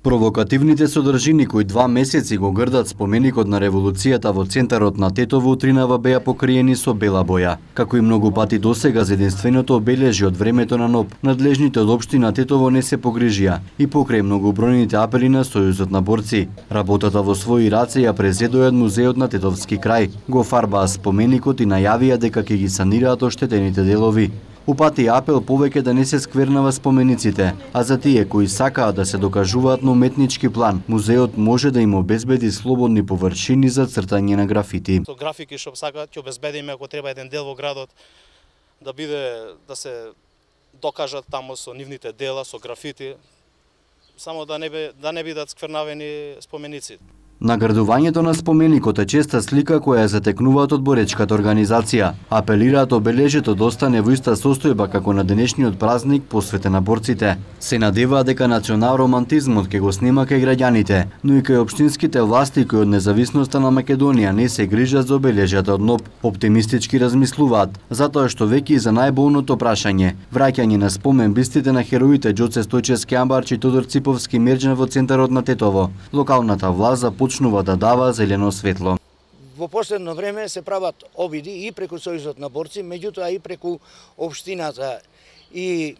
Провокативните содржини кои 2 месеци го грдат споменикот на револуцијата во центарот на Тетово утринава беа покриени со бела боја. Како и многу пати досега за единственото обележје од времето на НОБ, надлежните од општина Тетово не се погрижија и покрај многобројните апели на Сојузот на борци. Работата во своји раце ја презедоја музеот на Тетовски крај. Го фарбаа споменикот и најавија дека ќе ги санираат оштетените делови. Упати апел повеќе да не се сквернава спомениците, а за тие кои сакаат да се докажуваат на уметнички план, музеот може да им обезбеди слободни површини за цртање на графити. Со графики што сакаат ќе обезбедиме ако треба еден дел во градот да се докажат таму со нивните дела, со графити, само да не бидат сквернавени споменици. Наградувањето на споменикот е честа слика која затекнуваат од боречката организација. Апелираат обележјето да остане во иста состојба како на денешниот празник посветен на борците. Се надеваат дека национал-романтизмот ќе го снема кај граѓаните, но и кај општинските власти кои од независноста на Македонија не се грижат за обележјата од НОБ. Оптимистички размислуваат, затоа што веќе и за најболното прашање, враќање на спомен бистите на хероите Ѓоце Стојчевски Амбарч и Тодор Циповски Мерџан во центарот на Тетово. Локалната власт почнува да дава зелено светло. Во последно време се прават обиди и преку Сојузот на борци, меѓутоа и преку општината. И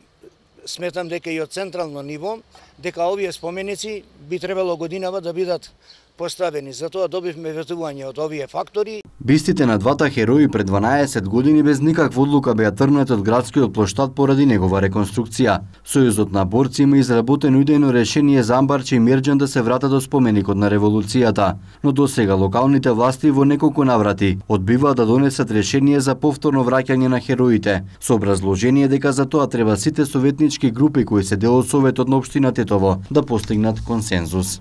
сметам дека и од централно ниво, дека овие споменици би требало годинава да бидат поставени. Затоа добивме ветување од овие фактори. Бистите на двата херои пред 12 години без никаква одлука беа тргнати од градскиот плоштад поради негова реконструкција. Сојузот на борци има изработено идејно решение за Амбарч и Мерџан да се вратат до споменикот на револуцијата, но досега локалните власти во неколку наврати одбиваат да донесат решение за повторно враќање на хероите, со образложение дека за тоа треба сите советнички групи кои се дел од Советот на општина Тетово да постигнат консензус.